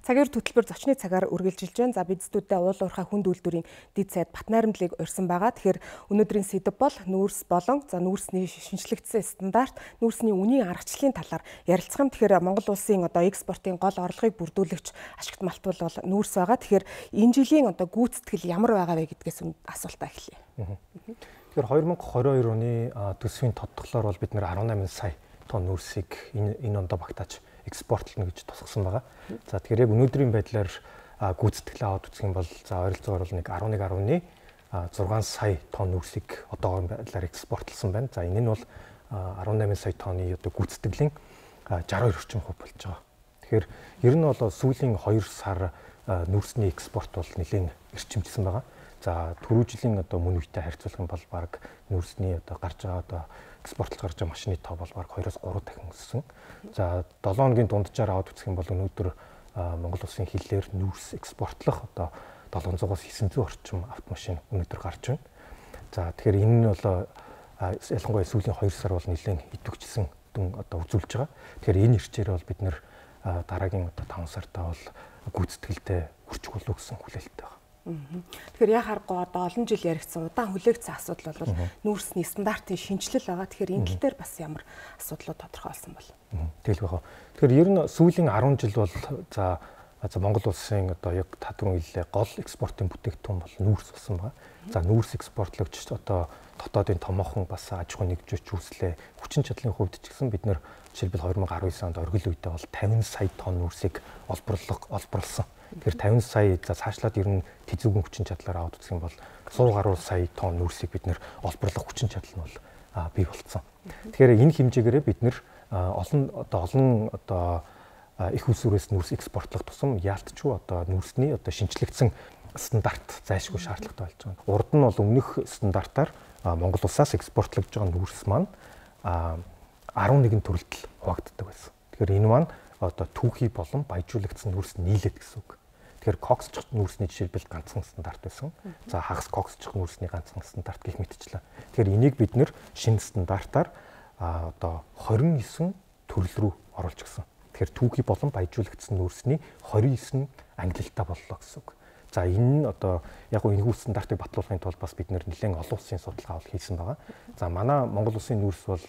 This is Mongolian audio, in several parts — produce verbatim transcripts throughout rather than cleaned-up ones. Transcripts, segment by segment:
Цагаар хөтөлбөр зочны цагаар үргэлжилж байна. За бид студидээ уул уурхай хүнд үйлдвэрийн дэд сайд Батнайрамдлыг урьсан байгаа. Тэгэхээр өнөөдрийн сэдэв бол нүүрс болон за нүүрсний шинжлэгдсэн стандарт, нүүрсний үнийн аргачлалын талаар ярилцах юм. Тэгэхээр Монгол улсын одоо экспортын гол орлогыг бүрдүүлэгч ашигт малтбал бол нүүрс байгаа. Тэгэхээр энэ жилийн одоо гүйцэтгэл ямар байгаа вэ гэдгээс асуултаа эхлэе. Тэгэхээр две тысячи двадцать two оны төсвийн тодтоглоор бол бид нэр eighteen сая тонн нүүрсийг энэ энэ ондоо багтааж экспортлно гэж тусгасан байгаа. За тэгэхээр яг өнөөдрийн байдлаар гүйцэтгэлээ аваад үзэх юм бол за ойролцоогоор бол нэг eleven point six сая тонн нүүрсийг одоогийн байдлаар экспортлсон байна. За энэ нь бол eighteen сая тонны одоо гүйцэтгэлийн sixty-two орчим хувь болж байгаа. Тэгэхээр ер нь бол сүүлийн two сар нүүрсний экспорт бол нэлээд эрчимжсэн байгаа. За түрүү жилийн одоо мөн үетэй харьцуулах юм бол баг нүүрсний одоо гарч байгаа одоо экспортлж гарч байгаа машины тоо бол баг two-оос three дахин өссөн. За seven хоногийн дунджаар аваад үзэх юм бол өнөөдөр Монгол улсын хилээр нүүрс экспортлох одоо seven hundred-аас nine hundred орчим автомашин өнөөдөр гарч байна. За тэгэхээр энэ нь бол ялангуяа сүүлийн two сар бол нэлээд идэвхжсэн дүн одоо үзүүлж байгаа. Тэгэхээр энэ ирчээр бол бид нэр дараагийн одоо five сартаа бол гүйцэтгэлтэй хүрчих болов гэсэн хүлээлттэй байна. Тэгэхээр яг харахгүй одоо олон жил яригдсан удаан хүлээгдсэн асуудал бол нүүрсний стандартын шинжилэл байгаа. Тэгэхээр энэ тал дээр бас ямар асуудлууд тодорхойлсон бол. Тэгэл байгаа. Тэгэхээр ер нь сүүлийн ten жил бол за за Монгол улсын одоо яг татвар хэллээ гол экспортын бүтээгдэхүүн бол нүүрс болсон байгаа. За нүүрс экспортлогч одоо дотоодын томоохон бас аж ахуй нэгжүүч үүслээ. Хүчин чадлын хувьд ч гэсэн бид нэр жишээлбэл twenty nineteen онд оргил үедээ бол fifty сая тонн нүүрсийг олборлог олборлсон. Тэгэхээр fifty сая за цаашлаад ер нь тэзүүгэн хүчин чадлаар аваад үзэх юм бол one hundred гаруй сая тонн нүүрсийг бид нэр олборлох хүчин чадал нь бол бий болцсон. Тэгэхээр энэ хэмжээгээрээ бид нэр олон одоо олон одоо их усүрээс нүүрс экспортлох тусам яалтчгүй одоо нүүрсний одоо шинжлэгдсэн стандарт зайлшгүй шаардлагатай болж байгаа. Урд нь бол өмнөх стандартаар Монгол улсаас экспортлогдож байгаа нүүрс маань eleven төрөлд хуваагддаг байсан. Тэгэхээр энэ маань одоо түүхий болон баяжуулагдсан нүүрс нийлээд гэсэн үг. Тэгэхээр коксч нүүрсний жишээлбэл ганцхан стандарт байсан. За хагас коксч нүүрсний ганцхан стандарт гэх мэтчлээ. Тэгэхээр энийг бид нэр шинэ стандартаар одоо twenty-nine төрөл рүү оруулж гисэн. Тэгэхээр түүхий болон баяжуулагдсан нүүрсний twenty-nine ангилалтай боллоо гэсэн үг. За энэ нь одоо яг нь энэхүү стандартыг батлуулахын тулд бас бид нэр нэлээд олон улсын судалгаа бол хийсэн байгаа. За манай Монгол улсын нүүрс бол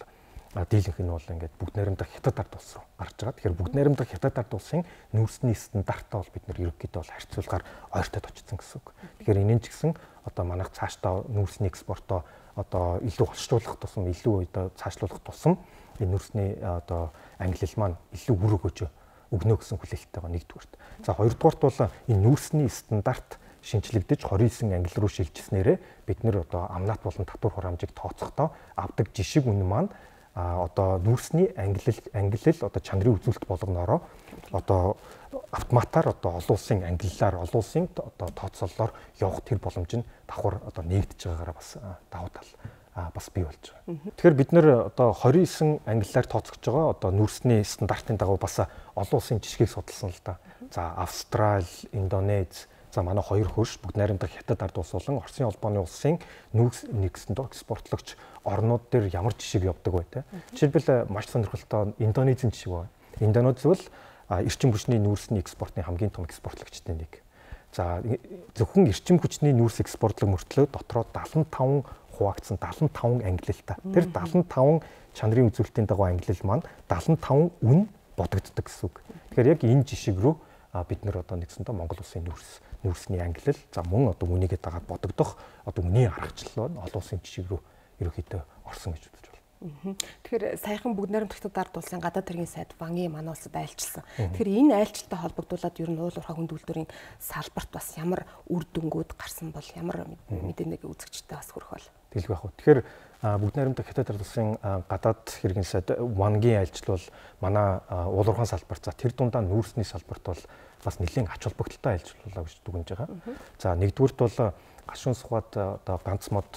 дийлэнх нь бол ингээд бүгд найрамдах хятад ард улс руу гарч байгаа. Тэгэхээр бүгд найрамдах хятад ард улсын нүүрсний стандартаа бол бид нэр ерөнхийдөө бол харьцуулгаар ойртоод очсон гэсэн үг. Тэгэхээр энэ нь ч гэсэн одоо манайх цаашдаа нүүрсний экспортоо одоо илүү холштуулах тусам илүү одоо цаашлуулах тусам энэ нүүрсний одоо ангилал маань илүү үр өгөөж өгнө гэсэн хүлээлттэй байгаа нэгдүгээрт. За хоёрдугаарт бол энэ нүүрсний стандарт шинжлэгдэж twenty-nine ангил руу шилжснээрээ бид нэр одоо амнат болон татвар хураамжийг тооцохдоо авдаг жишг үнэ маань а одоо нүүрсний ангилал ангилал одоо чанарын үзүүлэлт болгоноороо одоо автоматар одоо олон улсын ангиллаар олон улсын одоо тооцоололоор явах тэр боломж нь давхар одоо нэгдэж байгаагаараа бас давуу тал бас бий болж байгаа. Тэгэхээр бид нэр одоо twenty-nine ангиллаар тооцогдож байгаа одоо нүүрсний стандартын дагуу бас олон улсын жишгийг судалсан л да. За Австрали, Индонез, за манай хоёр хөрш бүгд найрамдах хятад ард улс болон Оросын холбооны улсын нүүрс нэгсэн төгспортлогч орнууд дээр ямар жишг явдаг бай тээ. Жишээлбэл маш сонирхолтой Индонезийн жишг байна. Индонез бол эрчим хүчний нүүрсний экспортын хамгийн том экспортлогчтой нэг. За зөвхөн эрчим хүчний нүүрс экспортлог мөртлөө дотроо seventy-five хуваагдсан seventy-five ангилалтай. Тэр seventy-five чанарын үзүүлэлтийн дагуу ангилал маань seventy-five үн бодогддог гэсэн үг. Тэгэхээр яг энэ жишг рүү бид нэр одоо нэгсэндээ Монгол улсын нүүрс нүүрсний ангилал за мөн одоо үнийгээ дагаад бодогдох одоо үнийн аргачлал олон улсын жишг рүү ерөөхдөө орсон гэж үзэж байна. Тэгэхээр саяхан бүгд найрамдах хятад ард улсын гадаад хэргийн сайд Вангийн манай улсад айлчилсан. Тэгэхээр энэ айлчлалтай холбогдуулаад ер нь уул уурхай хүнд үйлдвэрийн салбарт бас ямар үр дүнгууд гарсан бол ямар мэдээнийг үзэгчтэй бас хүрэх бол тэлгүй яг. Тэгэхээр бүгд найрамдах хятад ард улсын гадаад хэргийн сайд Вангийн айлчлал бол манай уул уурхайн салбарт за тэр дундаа нүүрсний салбарт бол бас нэлээд ач холбогдолтой айлчлалаа гэж дүгнэж байгаа. За нэгдүгüүрт бол гашуун сухад одоо ганц мод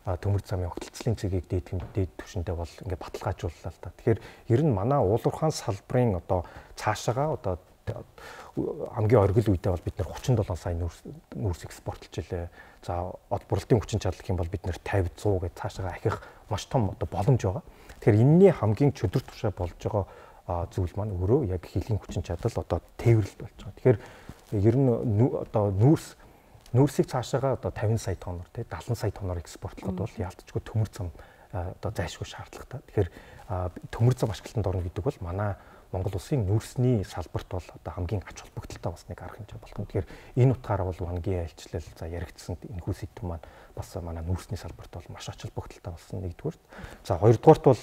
төмөр замын огтлцлын цэгийг дээд дээд түвшиндээ бол ингээд баталгаажууллаа л да. Тэгэхээр ер нь манай уул уурхайн салбарын одоо цаашаага одоо хамгийн оргил үедээ бол бид нэр thirty-seven сая нүүрс нүүрс экспортлж илээ. За од бурлалтын хүчин чадал гэх юм бол бид нэр fifty, one hundred гэж цаашаага ахих маш том одоо боломж байгаа. Тэгэхээр энэний хамгийн чөдөр тушаа болж байгаа зүйл маань өөрөө яг хилийн хүчин чадал одоо тээвэрлэлт болж байгаа. Тэгэхээр ер нь одоо нүүрс нүүрсийг цаашаага одоо тавин сая тонноор тий дагалан сая тонноор экспортлоход бол яалтчгүй төмөр зам одоо зайлшгүй шаардлагатай. Тэгэхээр төмөр зам ашиглалтанд орно гэдэг бол манай Монгол улсын нүүрсний салбарт бол одоо хамгийн ач холбогдолтой бас нэг арга хэмжээ болох. Тэгэхээр энэ утгаараа бол вангийн айлчлал за яригдсан энэхүү сэдв маань бас манай нүүрсний салбарт бол маш ач холбогдолтой болсон нэгдүгээр. За хоёрдугаарт бол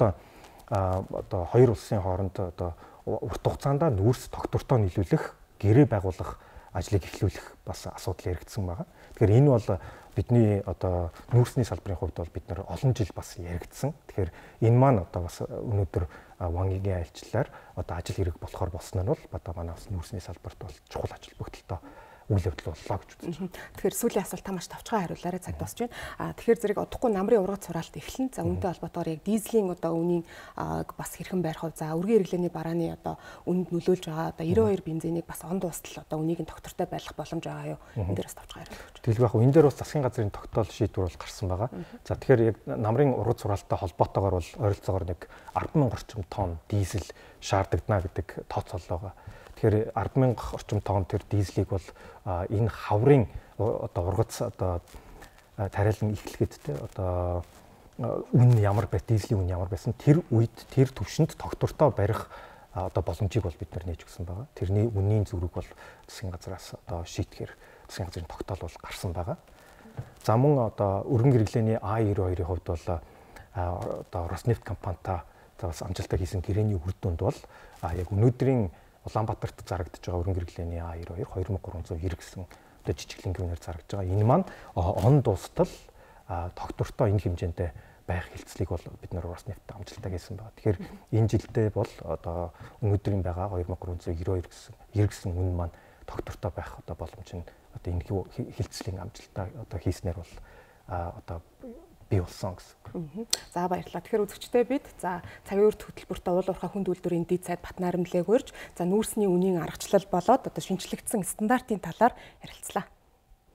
одоо хоёр улсын хооронд одоо урт хугацаанд нүүрс тогтвортой нийлүүлэх, гэрээ байгуулах ажлыг эхлүүлэх бас асуудал яригдсан байгаа. Тэгэхээр энэ бол бидний одоо нүүрсний салбарын хувьд бол бид нар олон жил бас яригдсан. Тэгэхээр энэ маань одоо бас өнөөдөр вангийн айлчлалаар одоо ажил хэрэг болохоор болсон нь бол одоо манай бас нүүрсний салбарт бол чухал ач холбогдолтой үйл явдал боллоо гэж үзэж байна. Тэгэхээр сүүлийн асуулт та маш тавчхан хариулаарай, цаг дуусч байна. А тэгэхээр зэрэг удахгүй намрын ургац сураалт эхлэн. За үүнтэй холбоотойгоор яг дизелийн одоо үнийн бас хэрхэн байрах вэ? За үргийн хэрэглээний барааны одоо үнэнд нөлөөлж байгаа одоо девяносто two бензинийг бас он дуустал одоо үнийг нь тогтвортой байлгах боломж байгаа юу? Энэ дээр бас тавчхан хариулж. Тэгэл яг энэ дээр бас засгийн газрын тогтоол шийдвэр бол гарсан байгаа. За тэгэхээр яг намрын ургац сураалттай холбоотойгоор бол ойролцоогоор нэг арван мянга орчим тонн дизель шаардагдана гэдэг тооцоолол байгаа. Тэгэхээр арван мянга орчим тонн тэр дизелийг бол энэ хаврын одоо ургац одоо тариалан эхлэхэд те одоо үн ямар бай дизелийн үн ямар байсан тэр үед тэр төвшөнд тогтвортой барих одоо боломжийг бол бид нар нээж өгсөн байгаа. Тэрний үнийн зүрэг бол засгийн газраас одоо шийтгэхээр засгийн газрын тогтоол бол гарсан байгаа. За мөн одоо өргөн хэрэглээний А девяносто two-ийн хувьд бол одоо Роснефть компанитай бас амжилттай хийсэн гэрээний үр дүнд бол яг өнөөдрийн Улаанбаатарт зарагдж байгаа өргөн хэрэглээний А девяносто two two thousand three hundred ninety гэсэн одоо жижиглэнгүүнээр зарагдж байгаа. Энэ маань он дуустал тогтвортой энэ хэмжээндээ байх хилцлийг бол бид нар Роснефть амжилттай хийсэн байна. Тэгэхээр энэ жилдээ бол одоо өнөөдрийн байгаа two thousand three hundred ninety two гэсэн хэрэгсэн үн маань тогтвортой байх одоо боломж нь одоо энэ хилцлийн амжилттай одоо хийснээр бол одоо бий болсон гэсэн. За баярлалаа. Тэгэхээр үзэгчдээ бид за цагийн үр хөтөлбөртөө уул уурхай хүнд үйлдвэрийн дэд сайд Батнайрамлыг урьж за нүүрсний үнийн аргачлал болоод одоо шинжлэгдсэн стандартын талаар ярилцлаа.